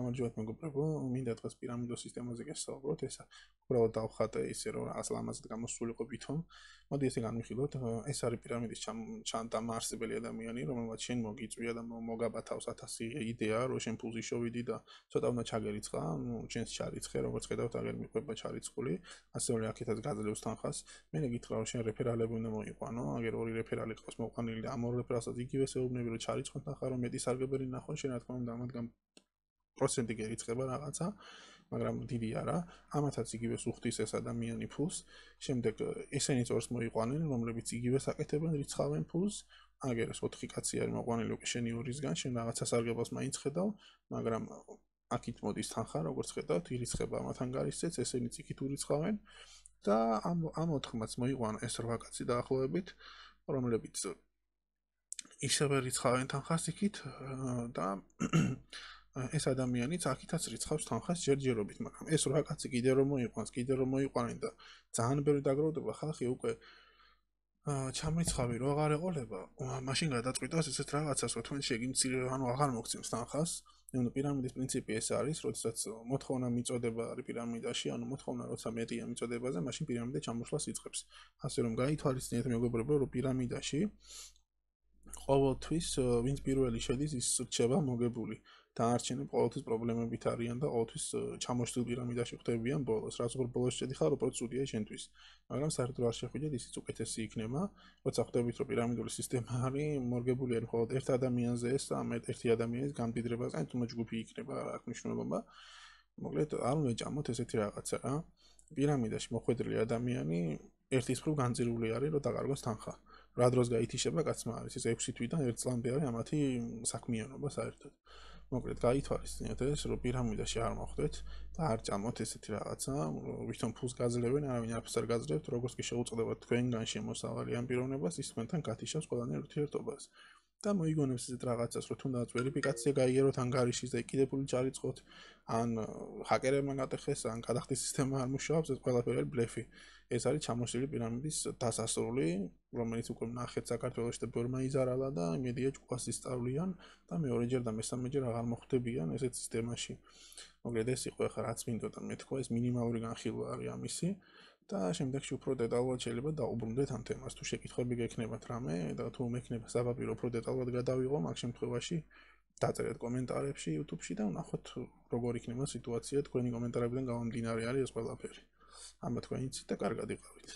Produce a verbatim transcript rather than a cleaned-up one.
გამარჯობათ მეგობრებო, მინდა დღეს პირამიდოს სისტემაზე გესაუბროთ, ესა უბრალოდ დავხატე ისე რომ რაღაც ლამაზად გამოსულიყო ვითომ. მოდი ესე განვიხილოთ, ეს არის პირამიდის დამაარსებელი ადამიანი, რომელმაც შენ მოგიწვია და მოგაბათავს ათასი იდეა, რომ შენ ფულზე შოვიდი და ცოტა უნდა ჩაგერიცხა, ნუ შენს ჩარიცხე, როგორც ხედავთ, აგერ მიყვება ჩარიცხული, ასევე აქეთაც გაძლევს თანხას. მე გითხრა რომ შენ რეფერალები უნდა მოიყვანო, აგერ ორი რეფერალი ყავს მოყვანილი და ამ ორ რეფერალსაც იგივე შეეუბნები, რომ ჩარიცხოთ ნახა, რომ მეტი სარგებელი ნახო, შენ რა თქმა უნდა ამათგან პროცენტი გერიცხება რაღაცა, მაგრამ დიდი არა. ამათაც იგივე სუხდის ეს ადამიანი ფულს. შემდეგ ესენიც ორს მოიყვანენ, რომლებიც იგივე საკეთებენ, რიცხავენ ფულს. აგერ ეს ოთხი კაცი არის მოყვანილი უკვე შენი ორისგან, შენ რაღაცა სარგებელს მაინც ხედავ, მაგრამ აქით მოდის თანხა, როგორც ხედავთ, ირიცხება ამათ ანგარიშზეც, ესენიც იქით ურიცხავენ და ამ ამ ოთხმაც მოიყვანა ეს რვა კაცი დაახლოებით, რომლებიც ისევე რიცხავენ თანხას იქით და ეს ადამიანიც აქითაც რიცხავს თანხას ჯერჯერობით, მაგრამ ეს რვა კაცი კიდე რომ მოიყვანს, კიდე რომ მოიყვანენ და ძალიან ბევრი დაგროვდება, ხალხი უკვე ჩამრიცხავი რო აღარ ეყოლება, მაშინ გადაწყვიტავს ესეთ რაღაცას, რომ თქვენ შეგიმცირე, ანუ აღარ მოგცემს თანხას. ნუ პირამიდის პრინციპი ეს არის, როდესაც მოთხოვნა მიწოდება არის პირამიდაში, ანუ მოთხოვნა როცა მეტია მიწოდებაზე, მაშინ პირამიდა ჩამოსვლას იწყებს. ასე რომ გაითვალისწინეთ მეგობრებო, რომ პირამიდაში ყოველთვის ვინც პირველი შედის, ის რჩება მოგებული. დანარჩენი ყოველთვის პრობლემებით არიან და ყოველთვის ჩამოშლილ პირამიდაში ხდებიან ბოლოს. რაც უფრო ბოლოს შედიხარ, უფრო ცუდია შენთვის. მაგრამ საერთოდ არ შეხვიდეთ, ისიც უკეთესი იქნება. როცა ხვდებით, რომ პირამიდული სისტემა არის, მორგებული არის მხოლოდ ერთ ადამიანზე ეს და ამ ერთი ადამიანის გამდიდრებას, ან თუნდაც ჯგუფი იქნება, რა აქვს მნიშვნელობა. მოკლედ, არ უნდა ჭამოთ ესეთი რაღაცა რა. პირამიდაში მოხვედრილი ადამიანი ერთის მხრივ განწირული არის, რომ დაკარგოს თანხა. რა დროს გაითიშება კაცმა არის ეს ექვსი თვიდან ერთ წლამდე არის ამათი საქმიანობა საერთოდ. მოკლედ გაითვალისწინეთ ეს, რომ პირამიდაში არ მოხვდეთ და არ ჭამოთ ესეთი რაღაცა, ვითომ ფულს გაძლევენ, არავინ არაფერს არ გაძლევთ, როგორც კი შეუწყდებათ თქვენგან შემოსავალი ამ პიროვნებას, ის თქვენთან გათიშავს ყველანაირ ურთიერთობას. და მოიგონებს ესეთ რაღაცას, რომ თუნდაც ვერიფიკაცია გაიაროთ ანგარიშის და კიდე ფული ჩარიცხოთ, ან ჰაკერებმა გატეხეს, ან გადახდის სისტემა არ მუშაობს, ეს ყველაფერი არის ბლეფი. ეს არის ჩამოშლილი პირამიდის დასასრული, რომელიც უკვე ნახეთ საქართველოში და ბევრმა იზარალა და იმედია ჯგუფას ისწავლიან და მეორეჯერ და მესამეჯერ აღარ მოხვდებიან ესეთ სისტემაში. მოკლედ ეს იყო ახლა რაც მინდოდა მეთქვა, ეს მინიმალური განხილვა არის ამისი და შემდეგში უფრო დეტალურად შეიძლება დაუბრუნდეთ ამ თემას. თუ შეკითხვები გექნებათ რამე და თუ მექნება საფაპირო უფრო დეტალურად გადავიღო, მაგ შემთხვევაში დაწერეთ კომენტარებში YouTube-ში და ვნახოთ როგორ იქნება სიტუაცია, თქვენი კომენტარებიდან გამომდინარე არის ეს ყველაფერი. ამათ თქვენიც და კარგად იყავით.